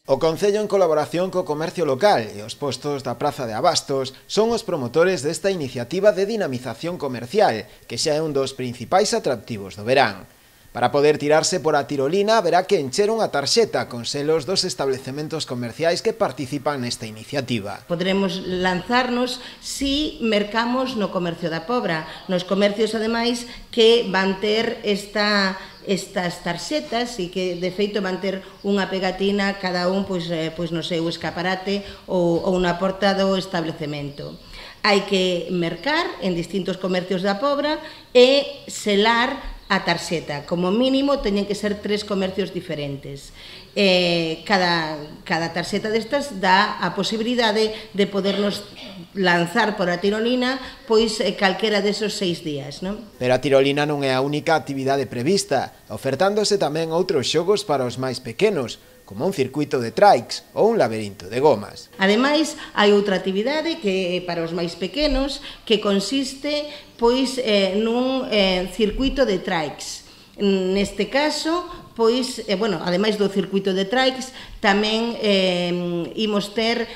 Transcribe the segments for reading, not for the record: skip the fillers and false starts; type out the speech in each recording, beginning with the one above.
O Concello, en colaboración co comercio local e os postos da Praza de Abastos, son os promotores desta iniciativa de dinamización comercial, que xa é un dos principais atractivos do verán. Para poder tirarse por a tirolina, haberá que encher unha tarxeta con selos dos establecementos comerciais que participan nesta iniciativa. Poderemos lanzarnos si mercamos no comercio da Pobra, nos comercios, ademais, que van ter estas tarxetas e que, de feito, van ter unha pegatina cada un pois no seu escaparate ou na porta do establecemento. Hai que mercar en distintos comercios da Pobra e selar a tarxeta. Como mínimo, teñen que ser 3 comercios diferentes. Cada tarxeta destas dá a posibilidade de podernos lanzar por a tirolina pois calquera desos 6 días, non? Pero a tirolina non é a única actividade prevista, ofertándose tamén outros xogos para os máis pequenos, como un circuito de trikes ou un laberinto de gomas. Ademais, hai outra actividade que para os máis pequenos que consiste pois nun circuito de trikes. Neste caso, pois, ademais do circuito de trikes, tamén imos ter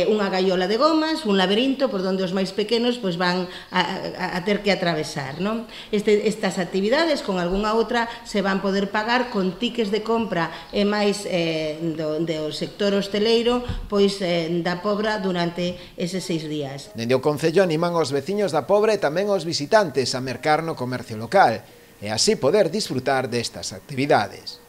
unha gaiola de gomas, un laberinto por onde os máis pequenos pois van a ter que atravesar, non? Estas actividades, con algunha outra, se van poder pagar con tickets de compra e máis do sector hosteleiro pois da Pobra durante eses 6 días. Dende o Concello animan os veciños da Pobra e tamén os visitantes a mercar no comercio local, e así poder disfrutar destas actividades.